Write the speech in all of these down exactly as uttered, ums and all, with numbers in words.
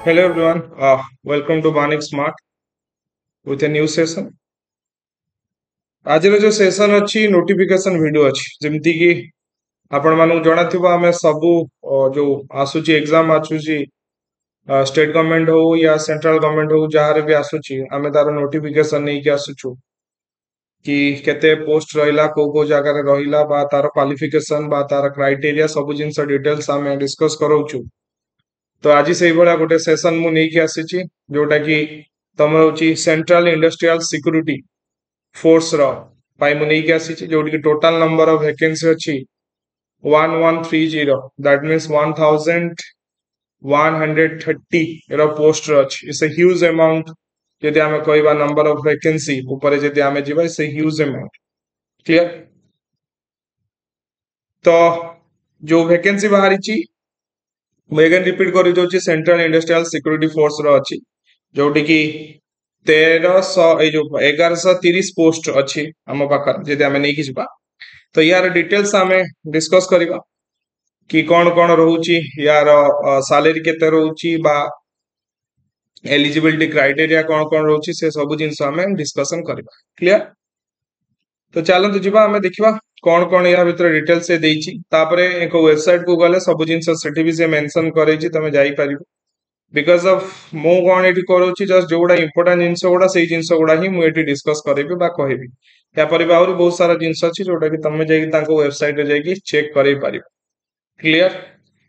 Hello everyone, uh, welcome to Banik Smart with a new session. ଆଜିର ଯୋଉ session ଅଛି notification video ଅଛି ଯେମିତି କି ଆପଣ ମାନଙ୍କୁ ଜଣାଥିବ ଆମେ ସବୁ ଅ, ଯୋଉ ଆସୁଛି ଏକ୍ସାମ ଆସୁଛି ଷ୍ଟେଟ ଗଭର୍ଣମେଣ୍ଟ ହଉ ୟା ସେଣ୍ଟ୍ରାଲ ଗଭର୍ଣମେଣ୍ଟ ହଉ ଯାହାର ବି ଆସୁଛି ଆମେ ତାର ନୋଟିଫିକେସନ ନେଇକି ଆସୁଛୁ କି କେତେ ପୋଷ୍ଟ ରହିଲା କୋଉ କୋଉ ଜାଗାରେ ରହିଲା ବା ତାର କ୍ୱାଲିଫିକେସନ ବା ତାର କ୍ରାଇଟେରିଆ ସବୁ ଜିନିଷ ଡିଟେଲ୍ସ ଆମେ ଡିସ୍କସ କରାଉଛୁ ତ ଆଜି ସେଇଭଳିଆ ଗୋଟେ ସେସନ ମୁଁ ନେଇକି ଆସିଛି ଯୋଉଟା କି ତମର ହଉଛି ସେଣ୍ଟ୍ରାଲ ଇଣ୍ଡଷ୍ଟ୍ରିଆଲ ସିକ୍ୟୁରିଟି ଫୋର୍ସ ର ପାଇଁ ମୁଁ ନେଇକି ଆସିଛି ଯୋଉଠି କି ଟୋଟାଲ ନମ୍ବର ଅଫ ଭେକେନ୍ସି ଅଛି one one three zero that means one thousand one hundred thirty ର ପୋଷ୍ଟ ଅଛି it's a huge amount ଯଦି ଆମେ କହିବା ନମ୍ବର ଅଫ ଭେକେନ୍ସି ଉପରେ ଯଦି ଆମେ ଯିବା it's a huge amount clear ତ ଯୋଉ ଭେକେନ୍ସି ବାହାରିଛି ମୁଁ ଏଗେନ୍ ରିପିଟ କରିଦଉଛି ସେଣ୍ଟ୍ରାଲ ଇଣ୍ଡଷ୍ଟ୍ରିଆଲ ସିକ୍ୟୁରିଟି ଫୋର୍ସ ର ଅଛି ଯୋଉଠି କି ତେରଶହ ଏଇ ଯୋଉ ଏଗାରଶହ ତିରିଶ ପୋଷ୍ଟ ଅଛି ଆମ ପାଖରେ ଯଦି ଆମେ ନେଇକି ଯିବା ତ ୟାର ଡିଟେଲ୍ସ ଆମେ ଡିସ୍କସ କରିବା କି କଣ କଣ ରହୁଛି ୟାର ସାଲେରୀ କେତେ ରହୁଛି ବା ଏଲିଜିବିଲିଟି କ୍ରାଇଟେରିଆ କଣ କଣ ରହୁଛି ସେ ସବୁ ଜିନିଷ ଆମେ ଡିସ୍କସନ କରିବା କ୍ଲିୟର ତ ଚାଲନ୍ତୁ ଯିବା ଆମେ ଦେଖିବା କଣ କଣ ୟା ଭିତରେ ଡିଟେଲ୍ସ ସେ ଦେଇଛି ତାପରେ ଏକ ୱେବସାଇଟ କୁ ଗଲେ ସବୁ ଜିନିଷ ସେଠି ବି ସେ ମେନସନ କରେଇଛି ତମେ ଯାଇପାରିବ because of ମୁଁ କଣ ଏଠି କରୁଛି ଜଷ୍ଟ ଯୋଉଗୁଡା ଇମ୍ପୋର୍ଟାଣ୍ଟ ଜିନିଷ ଗୁଡା ସେଇ ଜିନିଷ ଗୁଡା ହିଁ ମୁଁ ଏଠି ଡିସ୍କସ କରିବି ବା କହିବି ତାପରେ ବି ଆହୁରି ବହୁତ ସାରା ଜିନିଷ ଅଛି ଯୋଉଟା କି ତମେ ଯାଇକି ତାଙ୍କ ୱେବସାଇଟରେ ଯାଇକି ଚେକ୍ କରେଇ ପାରିବ କ୍ଲିୟର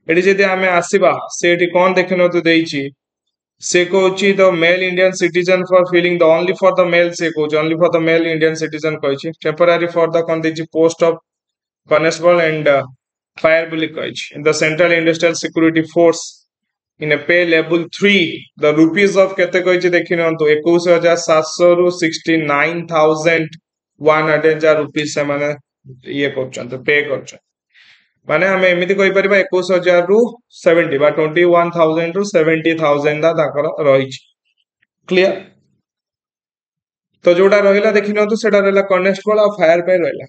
ଏଠି ଯଦି ଆମେ ଆସିବା ସେ ଏଠି କଣ ଦେଖିନିଅନ୍ତୁ ଦେଇଛି ସେ କହୁଛି the male Indian citizen for filling the only for the male ସେ କହୁଛି only for the male Indian citizen କହିଛି ଟେମ୍ପୋରାରୀ ଫର ଦ କଣ ଦେଇଛି post of constable and fire ବୋଲି କହିଛି the Central Industrial Security Force in a pay level three the rupees of କେତେ କହିଛି ଦେଖି ନିଅନ୍ତୁ ଏକୋଇଶ ହଜାର ସାତଶହ ରୁ sixty nine thousand one hundred ଯାହା ରୁପିଜ ସେମାନେ ଇଏ କରୁଛନ୍ତି ପେ କରୁଛନ୍ତି ମାନେ ଆମେ ଏମିତି କହିପାରିବା ଏକୋଇଶ ହଜାରରୁ ସେଭେଣ୍ଟି ବା ଟ୍ୱେଣ୍ଟି ୱାନ୍ ଥାଉଜେଣ୍ଡ ରୁ ସେଭେଣ୍ଟି ଥାଉଜେଣ୍ଡ ତାଙ୍କର ରହିଛି କ୍ଲିୟର ତ ଯୋଉଟା ରହିଲା ଦେଖି ନିଅନ୍ତୁ ସେଟା ରହିଲା କନେଷ୍ଟବଳ ଆଉ ଫାୟାର ପାଇଁ ରହିଲା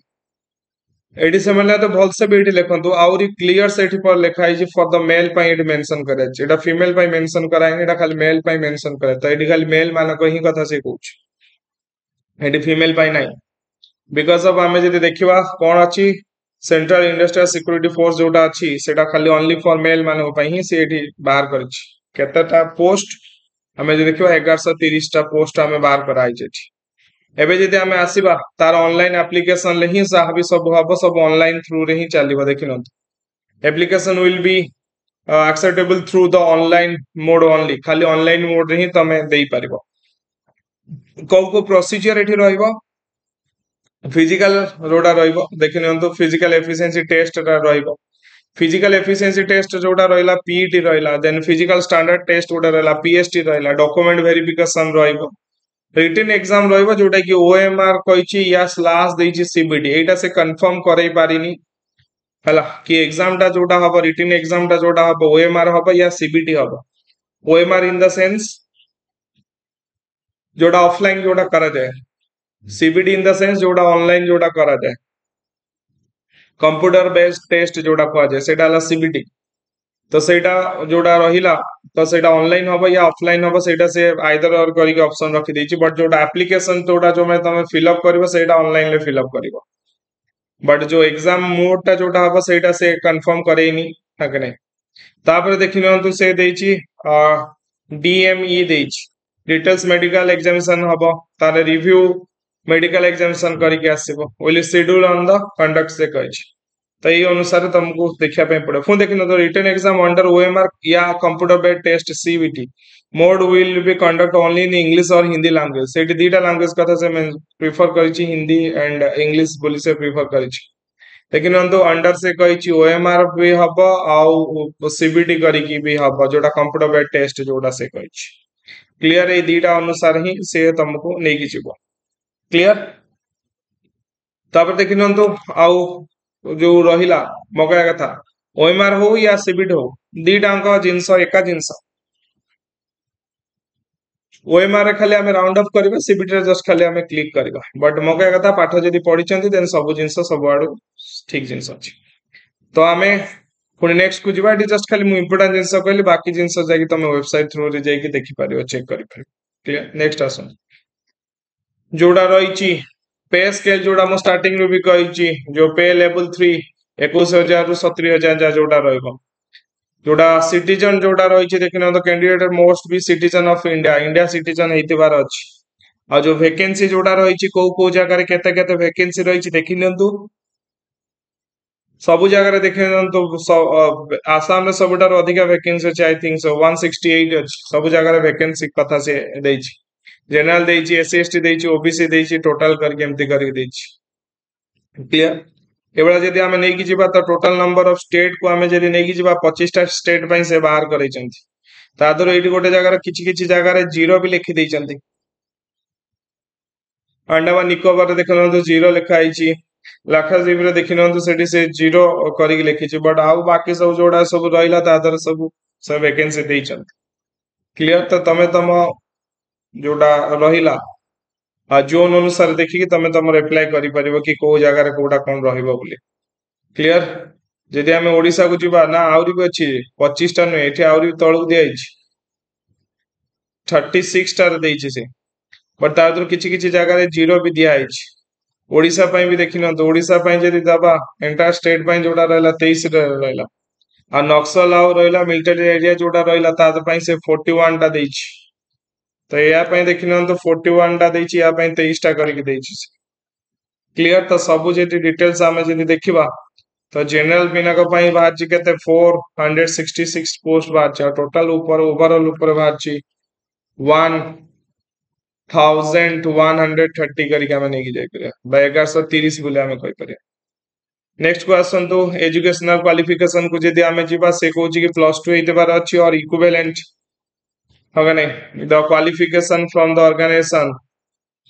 ଏଠି ସେମାନେ ତ ଭଲସେ ବି ଏଠି ଲେଖନ୍ତୁ ଆହୁରି କ୍ଲିୟର ସେଠି ପରେ ଲେଖା ହେଇଛି ଫର ଦ ମେଲ ପାଇଁ ଏଠି ମେନସନ କରାଯାଇଛି ଏଟା ଫିମେଲ ପାଇଁ ମେନସନ କରାହେଇନି ଏଟା ଖାଲି ମେଲ ପାଇଁ ମେନସନ କରାଯାଇଛି ତ ଏଠି ଖାଲି ମେଲ ମାନଙ୍କ ହିଁ କଥା ସେ କହୁଛି ଏଠି ଫିମେଲ ପାଇଁ ନାହିଁ because of ଆମେ ଯଦି ଦେଖିବା କଣ ଅଛି ସେଣ୍ଟ୍ରାଲ ଇଣ୍ଡଷ୍ଟ୍ରିଆଲ ସିକ୍ୟୁରିଟି ଫୋର୍ସ ଯୋଉଟା ଅଛି ସେଟା ଖାଲି ଅନଲି ଫର ମେଲ ମାନଙ୍କ ପାଇଁ ହିଁ ସେ ଏଠି ବାହାର କରିଛି କେତେଟା ପୋଷ୍ଟ ଆମେ ଯଦି ଦେଖିବା ଏଗାରଶହ ତିରିଶଟା ପୋଷ୍ଟ ଆମେ ବାହାର କରାହେଇଛି ଏଠି ଏବେ ଯଦି ଆମେ ଆସିବା ତାର ଅନଲାଇନ ଆପ୍ଲିକେସନରେ ହିଁ ଯାହା ବି ସବୁ ହବ ସବୁ ଅନଲାଇନ ଥ୍ରୁରେ ହିଁ ଚାଲିବ ଦେଖିନିଅନ୍ତୁ application will be acceptable through the online mode only ଖାଲି ଅନଲାଇନ ମୋଡରେ ହିଁ ତମେ ଦେଇପାରିବ କୋଉ କୋଉ ପ୍ରୋସିଜିଅର ଏଠି ରହିବ ଫିଜିକାଲ ଯୋଉଟା ରହିବ ଦେଖି ନିଅନ୍ତୁ ଫିଜିକାଲ ଏଫିସିଏନ୍ସି ଟେଷ୍ଟ ରହିବ ଫିଜିକାଲ ଏଫିସିଏନ୍ସି ଟେଷ୍ଟ ଯୋଉଟା ରହିଲା ପିଇଟି ରହିଲା ଦେନ୍ ଫିଜିକାଲ ଷ୍ଟାଣ୍ଡାର୍ଡ ଟେଷ୍ଟ ଗୋଟେ ରହିଲା ପିଏସଟି ରହିଲା ଡକୁମେଣ୍ଟ ଭେରିଫିକେସନ ରହିବ ରିଟେନ ଏକ୍ସାମ ରହିବ ଯୋଉଟା କି ଓଏମଆର କହିଛି ୟା ସ୍ଲାସ ଦେଇଛି ସିବିଟି ଏଇଟା ସେ କନଫର୍ମ କରେଇ ପାରିନି ହେଲା କି ଏକ୍ସାମ ଟା ଯୋଉଟା ହବ ରିଟେନ ଏକ୍ସାମ ଟା ଯୋଉଟା ହବ ଓଏମଆର ହବ ୟା ସିବିଟି ହବ ଓଏମଆର ଇନ the sense ଯୋଉଟା ଅଫଲାଇନ ଯୋଉଟା କରାଯାଏ ସିବିଟି ଇନ the sense ଯୋଉଟା ଅନଲାଇନ ଯୋଉଟା କରାଯାଏ କମ୍ପ୍ୟୁଟର ବେସ୍ଡ ଟେଷ୍ଟ ଯୋଉଟା କୁହାଯାଏ ସେଇଟା ହେଲା ସିବିଟି ତ ସେଇଟା ଯୋଉଟା ରହିଲା ତ ସେଇଟା ଅନଲାଇନ ହବ ୟା ଅଫଲାଇନ ହବ ସେଇଟା ସେ ଆଇଦର ଅର କରିକି ଅପସନ ରଖିଦେଇଛି ବଟ୍ ଯୋଉଟା ଆପ୍ଲିକେସନ ଯୋଉଟା ଯୋଉ ତମେ ଫିଲ୍ଅପ୍ କରିବ ସେଇଟା ଅନଲାଇନରେ ଫିଲ୍ଅପ୍ କରିବ ବଟ୍ ଯୋଉ ଏକ୍ସାମ ମୋଡ ଟା ଯୋଉଟା ହବ ସେଇଟା ସେ କନଫର୍ମ କରେଇନି ହଁ କି ନାଇଁ ତାପରେ ଦେଖି ନିଅନ୍ତୁ ସେ ଦେଇଛି ଡିଏମଇ ଦେଇଛି ଡିଟେଲ୍ସ ମେଡିକାଲ ଏକ୍ସାମିନେସନ ହବ ତାର ରିଭ୍ୟୁ ମେଡିକାଲ ଏକ୍ସାମିନେସନ କରିକି ଆସିବ will schedule on the conduct ସେ କହିଛି ତ ଏଇ ଅନୁସାରେ ତମକୁ ଦେଖିବା ପାଇଁ ପଡିବ ପୁଣି ଦେଖିନିଅନ୍ତୁ retain exam under OMR yeah computer based test CBT mode will be conduct only in English or Hindi language ସେଇଠି ଦିଟା ଲାଙ୍ଗୁଏଜ କଥା ସେ ପ୍ରିଫର କରିଛି ହିନ୍ଦୀ ଆଣ୍ଡ ଇଂଲିଶ ବୋଲି ସେ ପ୍ରିଫର କରିଛି ଦେଖିନିଅନ୍ତୁ ଅଣ୍ଡର ସେ କହିଛି ଓଏମଆର ବି ହବ ଆଉ ସିବିଟି କରିକି ବି ହବ ଯୋଉଟା କମ୍ପ୍ୟୁଟର ବେସ୍ଡ ଟେଷ୍ଟ ଯୋଉଟା ସେ କହିଛି କ୍ଲିୟର ଏଇ ଦିଟା ଅନୁସାରେ ହିଁ ସେ ତମକୁ ନେଇକି ଯିବ କ୍ଲିୟର ତାପରେ ଦେଖି ନିଅନ୍ତୁ ଆଉ ଯୋଉ ରହିଲା ମୋ କହିବା କଥା ଓଏମଆର ହଉ ୟା ସିବିଟି ହଉ ଦିଟାଙ୍କ ଜିନିଷ ଏକା ଜିନିଷ ଓଏମଆର ରେ ଖାଲି ଆମେ ରାଉଣ୍ଡ ଅଫ୍ କରିବା ସିବିଟି ରେ ଜଷ୍ଟ ଖାଲି ଆମେ କ୍ଲିକ୍ କରିବା ବଟ୍ ମୋ କହିବା କଥା ପାଠ ଯଦି ପଢିଛନ୍ତି ଦେନ୍ ସବୁ ଜିନିଷ ସବୁଆଡୁ ଠିକ ଜିନିଷ ଅଛି ତ ଆମେ ପୁଣି ନେକ୍ସଟ କୁ ଯିବା ଏଠି ଜଷ୍ଟ ଖାଲି ମୁଁ ଇମ୍ପୋର୍ଟାଣ୍ଟ ଜିନିଷ କହିଲି ବାକି ଜିନିଷ ଯାଇକି ତମେ ୱେବସାଇଟ ଥ୍ରୁରେ ଯାଇକି ଦେଖିପାରିବ ଚେକ୍ କରିପାରିବ କ୍ଲିୟର ନେକ୍ସଟ ଆସନ୍ତୁ ଯୋଉଟା ରହିଛି ପେ ସ୍କେଲ ଯୋଉଟା ମୁଁ ଷ୍ଟାର୍ଟିଂ ରୁ ବି କହିଛି ଯୋଉ ପେ ଲେବୁଲ ଥ୍ରୀ ଏକୋଇଶ ହଜାରରୁ ସତୁରି ହଜାର ଯାହା ଯୋଉଟା ରହିବ ଯୋଉଟା ସିଟିଜନ ଯୋଉଟା ରହିଛି ଦେଖିନିଅନ୍ତୁ candidate must be citizen of India India citizen ହେଇଥିବାର ଅଛି ଆଉ ଯୋଉ ଭେକେନ୍ସି ଯୋଉଟା ରହିଛି କୋଉ କୋଉ ଜାଗାରେ କେତେ କେତେ ଭେକେନ୍ସି ରହିଛି ଦେଖି ନିଅନ୍ତୁ ସବୁ ଜାଗାରେ ଦେଖି ନିଅନ୍ତୁ ଆସାମରେ ସବୁଠାରୁ ଅଧିକା ଭେକେନ୍ସି ଅଛି I think so one sixty eight ଅଛି ସବୁ ଜାଗାରେ ଭେକେନ୍ସି କଥା ସେ ଦେଇଛି ଜେନେରାଲ ଦେଇଛି ଏସସି ଏସଟି ଦେଇଛି ଓବିସି ଦେଇଛି ଟୋଟାଲ କରିକି ଏମିତି କରିକି ଦେଇଛି କ୍ଲିୟର ଏଭଳିଆ ଯଦି ଆମେ ନେଇକି ଯିବା ତ ଟୋଟାଲ ନମ୍ବର ଅଫ ଷ୍ଟେଟ କୁ ଆମେ ଯଦି ନେଇକି ଯିବା ପଚିଶଟା ଷ୍ଟେଟ ପାଇଁ ସେ ବାହାର କରେଇଛନ୍ତି ତା ଦେହରୁ ଏଇଠି ଗୋଟେ ଜାଗାରେ କିଛି କିଛି ଜାଗାରେ ଜିରୋ ବି ଲେଖି ଦେଇଛନ୍ତି ଆଣ୍ଡାମାନ ନିକୋବରରେ ଦେଖନ୍ତୁ ଜିରୋ ଲେଖା ହେଇଛି ଲାକ୍ଷାଦ୍ୱୀପରେ ଦେଖି ନିଅନ୍ତୁ ସେଠି ସେ ଜିରୋ କରିକି ଲେଖିଛି ବଟ୍ ଆଉ ବାକି ସବୁ ଯୋଉଟା ସବୁ ରହିଲା ତା ଦେହରେ ସବୁ ସେ ଭେକେନ୍ସି ଦେଇଛନ୍ତି କ୍ଲିୟର ତ ତମେ ତମ ଯୋଉଟା ରହିଲା ଜୋନ୍ ଅନୁସାରେ ଦେଖିକି ତମେ ତମର ଆପ୍ଲାଏ କରିପାରିବ କି କୋଉ ଜାଗାରେ କୋଉଟା କଣ ରହିବ ବୋଲି କ୍ଲିୟର ଯଦି ଆମେ ଓଡିଶାକୁ ଯିବା ନା ଆହୁରି ବି ଅଛି ପଚିଶଟା ନୁହେଁ ଏଠି ଆହୁରି ତଳକୁ ଦିଆଯାଇଛି ଥାର୍ଟି ସିକ୍ସଟାରେ ଦେଇଛି ସେ ବଟ୍ ତା ଭିତରୁ କିଛି କିଛି ଜାଗାରେ ଜିରୋ ବି ଦିଆହେଇଛି ଓଡିଶା ପାଇଁ ବି ଦେଖି ନିଅନ୍ତୁ ଓଡିଶା ପାଇଁ ଯଦି ଦବା ଏଣ୍ଟାୟାର ଷ୍ଟେଟ ପାଇଁ ଯୋଉଟା ରହିଲା ତେଇଶରେ ରହିଲା ଆଉ ନକ୍ସଲ ଆଉ ରହିଲା ମିଲିଟାରୀ ଏରିଆ ଯୋଉଟା ରହିଲା ତା ପାଇଁ ସେ ଫୋର୍ଟି ୱାନ୍ ଟା ଦେଇଛି ତ ୟା ପାଇଁ ଦେଖି ନିଅନ୍ତୁ ଫୋର୍ଟି ୱାନ୍ ଟା ଦେଇଛି ୟା ପାଇଁ ତେଇଶଟା କରିକି ଦେଇଛି କ୍ଲିୟର ତ ସବୁ ଯଦି ଡିଟେଲ୍ସ ଆମେ ଯଦି ଦେଖିବା ତ ଜେନେରାଲ ପିଲାଙ୍କ ପାଇଁ ବାହାରିଛି କେତେ four hundred sixty six post ବାହାରିଛି ଆଉ ଟୋଟାଲ ଉପରେ ଓଭରଅଲ ଉପରେ ବାହାରିଛି one thousand one hundred thirty କରିକି ଆମେ ନେଇକି ଯାଇପାରିବା ବା ଏଗାରଶହ ତିରିଶ ବୋଲି ଆମେ କହିପାରିବା ନେକ୍ସଟ କୁ ଆସନ୍ତୁ ଏଜୁକେସନାଲ କ୍ୱାଲିଫିକେସନ କୁ ଯଦି ଆମେ ଯିବା ସେ କହୁଛି କି ପ୍ଲସ ଟୁ ହେଇଥିବାର ଅଛି ଅର ଇକ୍ୱିଭାଲେଣ୍ଟ ହଁ କି ନାଇଁ the qualification from the organization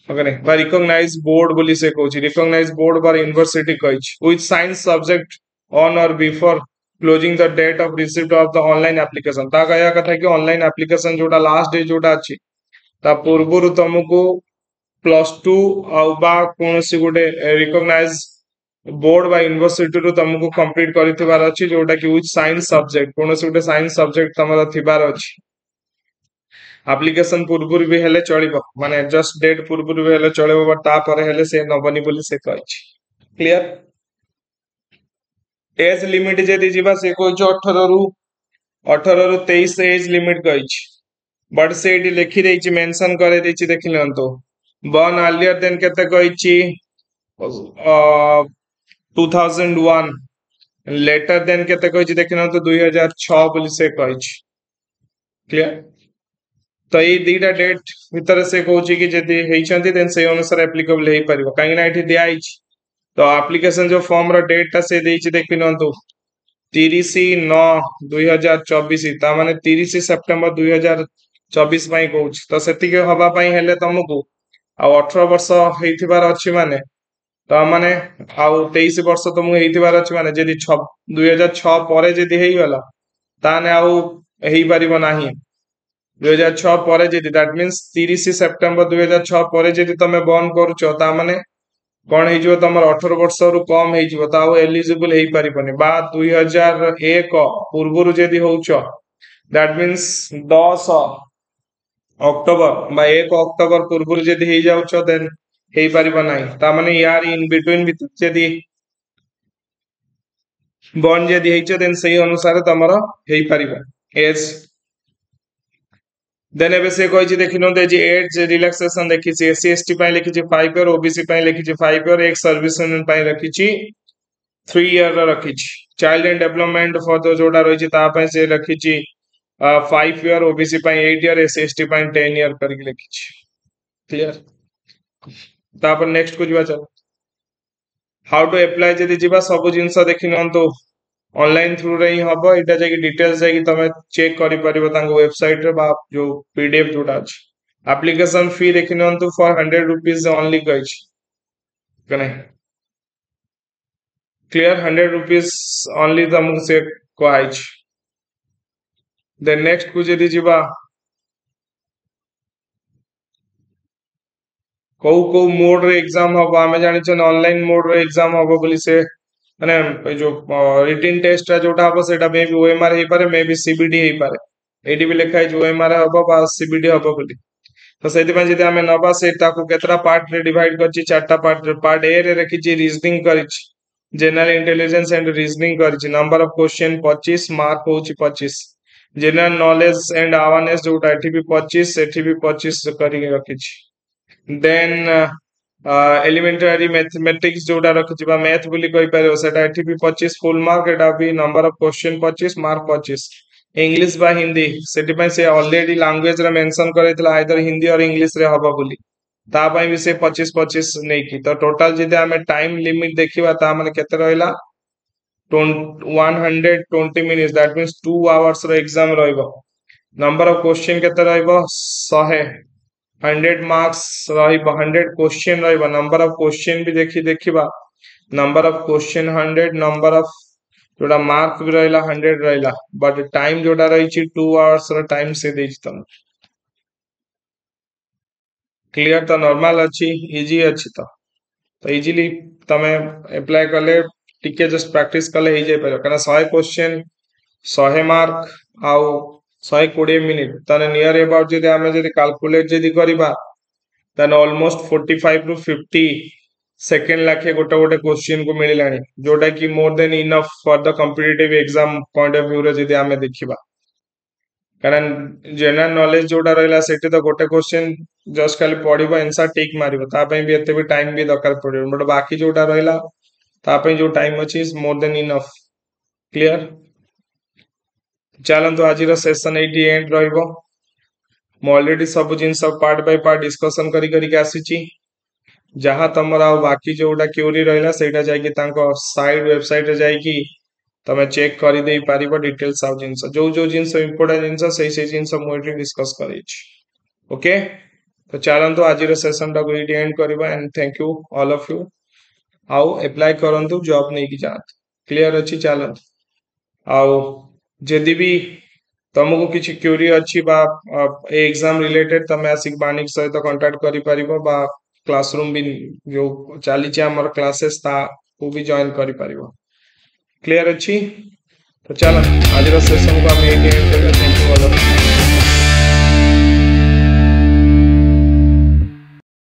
ହଁ କି ନାଇଁ ବା ରିକଗ୍ନାଇଜ ବୋର୍ଡ ବୋଲି ସେ କହୁଛି ରିକଗ୍ନାଇଜ ବୋର୍ଡ ବା ୟୁନିଭର୍ସିଟି କହିଛି with science subject on or before closing the date of receipt of the online application ତା କହିବା କଥା କି ଅନଲାଇନ ଆପ୍ଲିକେସନ ଯୋଉଟା ଲାଷ୍ଟ ଡେ ଯୋଉଟା ଅଛି ତା ପୂର୍ବରୁ ତମକୁ ପ୍ଲସ ଟୁ ଆଉ ବା କୌଣସି ଗୋଟେ ରିକଗ୍ନାଇଜ ବୋର୍ଡ ବା ୟୁନିଭର୍ସିଟିରୁ ତମକୁ କମ୍ପ୍ଲିଟ କରିଥିବାର ଅଛି ଯୋଉଟା କି ୱିଥ ସାଇନ୍ସ ସବଜେକ୍ଟ କୌଣସି ଗୋଟେ ସାଇନ୍ସ ସବଜେକ୍ଟ ତମର ଥିବାର ଅଛି ଆପ୍ଲିକେସନ ପୂର୍ବରୁ ବି ହେଲେ ଚଳିବ ମାନେ ଜଷ୍ଟ ଡେଟ୍ ପୂର୍ବରୁ ବି ହେଲେ ଚଳିବ ବଟ୍ ତାପରେ ହେଲେ ସେ ନବନି ବୋଲି ସେ କହିଛି କ୍ଲିୟର ଏଜ ଲିମିଟ ଯଦି ଯିବା ସେ କହୁଛି ଅଠରରୁ ଅଠରରୁ ତେଇଶ ଏଜ ଲିମିଟ କହିଛି ବଟ୍ ସେ ଏଇଠି ଲେଖିଦେଇଛି ମେନସନ କରେଇଦେଇଛି ଦେଖି ନିଅନ୍ତୁ ବର୍ନ ଆର୍ଲିୟର ଦେନ୍ କେତେ କହିଛି two thousand one later than କେତେ କହିଛି ଦେଖି ନିଅନ୍ତୁ ଦୁଇ ହଜାର ଛଅ ବୋଲି ସେ କହିଛି କ୍ଲିୟର ତ ଏଇ ଦିଟା ଡେଟ୍ ଭିତରେ ସେ କହୁଛି କି ଯଦି ହେଇଛନ୍ତି ଦେନ୍ ସେଇ ଅନୁସାରେ ଆପ୍ଲିକେବଲ ହେଇପାରିବ କାହିଁକି ନା ଏଠି ଦିଆହେଇଛି ତ ଆପ୍ଲିକେସନ ଯୋଉ ଫର୍ମ ର ଡେଟ୍ ଟା ସେ ଦେଇଛି ଦେଖି ନିଅନ୍ତୁ ତିରିଶ ନଅ ଦୁଇ ହଜାର ଚବିଶ ତା ମାନେ ତିରିଶ ସେପ୍ଟେମ୍ବର ଦୁଇ ହଜାର ଚବିଶ ପାଇଁ କହୁଛି ତ ସେତିକି ହବା ପାଇଁ ହେଲେ ତମକୁ ଆଉ ଅଠର ବର୍ଷ ହେଇଥିବାର ଅଛି ମାନେ ତା ମାନେ ଆଉ ତେଇଶ ବର୍ଷ ତମକୁ ହେଇଥିବାର ଅଛି ମାନେ ଯଦି ଛ ଦୁଇ ହଜାର ଛଅ ପରେ ଯଦି ହେଇଗଲା ତାହେଲେ ଆଉ ହେଇପାରିବ ନାହିଁ ଦୁଇ ହଜାର ଛଅ ପରେ ଯଦି that means ତିରିଶ ସେପ୍ଟେମ୍ବର ଦୁଇ ହଜାର ଛଅ ପରେ ଯଦି ତମେ ବର୍ନ କରୁଛ ତା ମାନେ କଣ ହେଇଯିବ ତମର ଅଠର ବର୍ଷରୁ କମ ହେଇଯିବ ତ ଆଉ ଏଲିଜିବଲ ହେଇପାରିବନି ବା ଦୁଇ ହଜାର ଏକ ପୂର୍ବରୁ ଯଦି ହଉଛ that means ଦଶ ଅକ୍ଟୋବର ବା ଏକ ଅକ୍ଟୋବର ପୂର୍ବରୁ ଯଦି ହେଇଯାଉଛ ଦେନ୍ ହେଇପାରିବ ନାହିଁ ତା ମାନେ ୟାର ଇନ ବିଟୁଇନ ଭିତରେ ଯଦି ବର୍ନ ଯଦି ହେଇଛ ଦେନ୍ ସେଇ ଅନୁସାରେ ତମର ହେଇପାରିବ ଏଜ ଦେନ୍ ଏବେ ସେ କହିଛି ଦେଖି ନିଅନ୍ତୁ ଏଜି ଏଜ୍ ରିଲାକ୍ସେସନ ଦେଖିଛି ଏସସି ଏସଟି ପାଇଁ ଲେଖିଛି ଫାଇଭ ଇୟର ଓବିସି ପାଇଁ ଲେଖିଛି ଫାଇଭ ଇୟର ଏକ୍ସ ସର୍ଭିସ ପାଇଁ ରଖିଛି ଥ୍ରୀ ଇୟର ରଖିଛି ଚାଇଲ୍ଡ ଆଣ୍ଡ ଡେଭଲପମେଣ୍ଟ ଫର ଯୋଉଟା ରହିଛି ତା ପାଇଁ ସେ ରଖିଛି ଫାଇଭ ଇୟର ଓବିସି ପାଇଁ ଏଇଟ ଇୟର ଏସସି ଏସଟି ପାଇଁ ଟେନ୍ ଇୟର କରିକି ଲେଖିଛି କ୍ଲିୟର ତାପରେ ନେକ୍ସଟ କୁ ଯିବା ଚାଲ how to apply ଯଦି ଯିବା ସବୁ ଜିନିଷ ଦେଖି ନିଅନ୍ତୁ ଅନଲାଇନ ଥ୍ରୁରେ ହିଁ ହବ ଏଇଟା ଯାଇକି ଡିଟେଲ୍ସ ଯାଇକି ତମେ ଚେକ୍ କରିପାରିବ ତାଙ୍କ ୱେବସାଇଟରେ ବା ଯୋଉ ପିଡିଏଫ ଯୋଉଟା ଅଛି ଆପ୍ଲିକେସନ ଫି ଦେଖି ନିଅନ୍ତୁ ଫର ହଣ୍ଡ୍ରେଡ ରୁପିଜ ଅନଲି କହିଛି ନାଇଁ କ୍ଲିୟର ହଣ୍ଡ୍ରେଡ ରୁପିଜ ଅନଲି ତମକୁ ସେ କୁହାଯାଇଛି ଦେନ୍ ନେକ୍ସଟ କୁ ଯଦି ଯିବା କୋଉ କୋଉ ମୋଡ ରେ ଏକ୍ସାମ ହବ ଆମେ ଜାଣିଛେ ଅନଲାଇନ ମୋଡ ରେ ଏକ୍ସାମ ହବ ବୋଲି ସେ ମାନେ ଏଇ ଯୋଉ ରିଟିନ୍ ଟେଷ୍ଟଟା ଯୋଉଟା ହବ ସେଇଟା ମେ ବି ଓଏମଆର ହେଇପାରେ ମେ ବି ସିବିଟି ହେଇପାରେ ଏଇଠି ବି ଲେଖା ହେଇଛି ଓଏମଆର ହବ ବା ସିବିଟି ହବ ବୋଲି ତ ସେଇଥିପାଇଁ ଯଦି ଆମେ ନବା ସେ ତାକୁ କେତେଟା ପାର୍ଟ ରେ ଡିଭାଇଡ କରିଛି ଚାରିଟା ପାର୍ଟ ପାର୍ଟ ଏ ରେ ରଖିଛି ରିଜନିଂ କରିଛି ଜେନେରାଲ ଇଣ୍ଟେଲିଜେନ୍ସ ଆଣ୍ଡ ରିଜନିଂ କରିଛି ନମ୍ବର ଅଫ କ୍ୱେଶ୍ଚନ ପଚିଶ ମାର୍କ ହଉଛି ପଚିଶ ଜେନେରାଲ ନଲେଜ ଆଣ୍ଡ ଆୱାରନେସ ଯୋଉଟା ଏଠି ବି ପଚିଶ ସେଠି ବି ପଚିଶ କରିକି ରଖିଛି ଦେନ୍ ଏଲିମେଣ୍ଟାରୀ ମ୍ୟାଥମେଟିକ୍ସ ଯୋଉଟା ରଖିଛି ବା ମ୍ୟାଥ ବୋଲି କହିପାରିବ ସେଟା ଏଠି ବି ପଚିଶ ଫୁଲ ମାର୍କ ଏଟା ବି ନମ୍ବର ଅଫ କ୍ୱେଶ୍ଚନ ପଚିଶ ମାର୍କ ପଚିଶ ଇଂଲିଶ ବା ହିନ୍ଦୀ ସେଥିପାଇଁ ସେ ଅଲରେଡି ଲାଙ୍ଗୁଏଜ ରେ ମେନସନ କରିଥିଲା ଆଇଦର ହିନ୍ଦୀ ଅର ଇଂଲିଶ ରେ ହବ ବୋଲି ତା ପାଇଁ ବି ସେ ପଚିଶ ପଚିଶ ନେଇକି ତ ଟୋଟାଲ ଯଦି ଆମେ ଟାଇମ ଲିମିଟ ଦେଖିବା ତା ମାନେ କେତେ ରହିଲା one hundred twenty minutes that means two hours ର ଏକ୍ସାମ ରହିବ ନମ୍ବର ଅଫ କ୍ୱେଶ୍ଚନ କେତେ ରହିବ ଶହେ ହଣ୍ଡ୍ରେଡ ମାର୍କସ ରହିବ ହଣ୍ଡ୍ରେଡ କ୍ୱେଶ୍ଚନ ରହିବ ନମ୍ବର ଅଫ କ୍ୱେଶ୍ଚନ ବି ଦେଖି ଦେଖିବା number of question hundred number of ଯୋଉଟା ମାର୍କ ବି ରହିଲା ହଣ୍ଡ୍ରେଡ ରହିଲା ବଟ୍ ଟାଇମ ଯୋଉଟା ରହିଛି ଟୁ ଆୱାର୍ସ ର ଟାଇମ ସେ ଦେଇଛି ତମକୁ କ୍ଲିୟର ତ ନର୍ମାଲ ଅଛି ଇଜି ଅଛି ତ ତ ଇଜିଲି ତମେ ଆପ୍ଲାଏ କଲେ ଟିକେ ଜଷ୍ଟ ପ୍ରାକ୍ଟିସ କଲେ ହେଇଯାଇପାରିବ କାରଣ ଶହେ କ୍ୱେଶ୍ଚନ ଶହେ ମାର୍କ ଆଉ ଶହେ କୋଡିଏ ମିନିଟ ତାହେଲେ ନିୟର ଏବାଉଟ ଯଦି ଆମେ ଯଦି କାଲକୁଲେଟ ଯଦି କରିବା ତାହେଲେ ଅଲମୋଷ୍ଟ ଫୋର୍ଟି ଫାଇଭ ରୁ ଫିଫ୍ଟି ସେକେଣ୍ଡ ଲାଖେ ଗୋଟେ ଗୋଟେ କ୍ୱେଶ୍ଚିନ୍ କୁ ମିଳିଲାଣି ଯୋଉଟା କି more than enough for the competitive exam point of ଭ୍ୟୁରେ ଯଦି ଆମେ ଦେଖିବା କାରଣ ଜେନେରାଲ ନଲେଜ ଯୋଉଟା ରହିଲା ସେଠି ତ ଗୋଟେ କ୍ୱେଶ୍ଚିନ୍ ଜଷ୍ଟ ଖାଲି ପଢିବ ଆନ୍ସର ଟିକ୍ ମାରିବ ତା ପାଇଁ ବି ଏତେ ବି ଟାଇମ ବି ଦରକାର ପଡିବ ବଟ୍ ବାକି ଯୋଉଟା ରହିଲା ତା ପାଇଁ ଯୋଉ ଟାଇମ ଅଛି ମୋର ଦେନ୍ ଇନଫ କ୍ଲିୟର ଚାଲନ୍ତୁ ଆଜିର ସେସନ ଏଇଠି ଏଣ୍ଡ ରହିବ ମୁଁ ଅଲରେଡି ସବୁ ଜିନିଷ ପାର୍ଟ ବାଇ ପାର୍ଟ ଡିସ୍କସନ କରି କରିକି ଆସିଛି ଯାହା ତମର ଆଉ ବାକି ଯୋଉଟା କ୍ୟୁରି ରହିଲା ସେଇଟା ଯାଇକି ତାଙ୍କ ସାଇଟ୍ ୱେବସାଇଟରେ ଯାଇକି ତମେ ଚେକ୍ କରିଦେଇ ପାରିବ ଡିଟେଲ୍ସ ଆଉ ଜିନିଷ ଯୋଉ ଯୋଉ ଜିନିଷ ଇମ୍ପୋର୍ଟାଣ୍ଟ ଜିନିଷ ସେଇ ସେଇ ଜିନିଷ ମୁଁ ଏଠି ଡିସ୍କସ କରିଛି ଓକେ ତ ଚାଲନ୍ତୁ ଆଜିର ସେସନ ଟାକୁ ଏଇଠି ଏଣ୍ଡ କରିବା and thank you all of you ଆଉ ଆପ୍ଲାଏ କରନ୍ତୁ ଜବ୍ ନେଇକି ଯାଆନ୍ତୁ କ୍ଲିୟର ଅଛି ଚାଲନ୍ତୁ ଆଉ ଯଦି ବି ତମକୁ କିଛି କ୍ୟୁରି ଅଛି ବା ଏ ଏକ୍ସାମ ରିଲେଟେଡ ତମେ ଆସିକି ବାଣିକ ସହିତ କଣ୍ଟାକ୍ଟ କରିପାରିବ ବା କ୍ଲାସରୁମ ବି ଯୋଉ ଚାଲିଛି ଆମର କ୍ଲାସେସ୍ ତାକୁ ବି ଜଏନ୍ କରିପାରିବ କ୍ଲିୟର ଅଛି ତ ଚାଲ ଆଜିର ସେସନକୁ ଆମେ ଏଇଠି ଏଣ୍ଡ କରିବା thank you all of